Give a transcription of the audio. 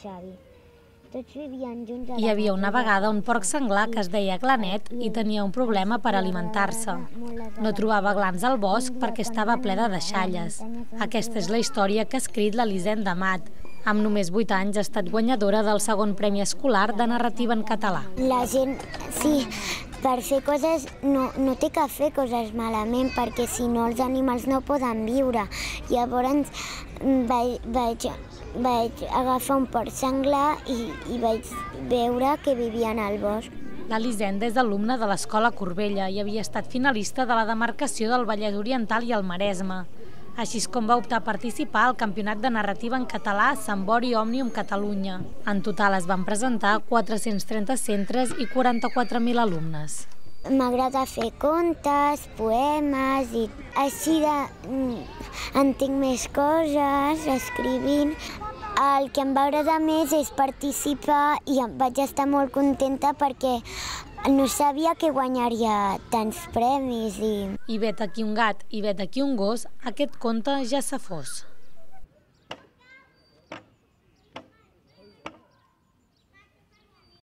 Xavi. Tots vivien junts. Hi havia una vegada un porc senglar que es deia Glanet i tenia un problema per alimentar-se. No trobava glans al bosc perquè estava ple de deixalles. Aquesta és la història que ha escrit l'Elisenda Amat. Amb només 8 anys ha estat guanyadora del segon premi escolar de narrativa en català. La gent, sí, per fer coses no té que fer coses malament, perquè si no els animals no poden viure. Llavors vaig agafar un porc senglar i vaig veure que vivien al bosc. L'Elisenda és alumna de l'Escola Corbella i havia estat finalista de la demarcació del Vallès Oriental i el Maresme. Així és com va optar a participar al Campionat de Narrativa en Català Sambori Òmnium Catalunya. En total es van presentar 430 centres i 44.000 alumnes. M'agrada fer contes, poemes i així entenc més coses escrivint. El que em va agradar més és participar i vaig estar molt contenta perquè no sabia que guanyaria tants premis. I vet aquí un gat i vet aquí un gos, aquest conte ja s'ha fos.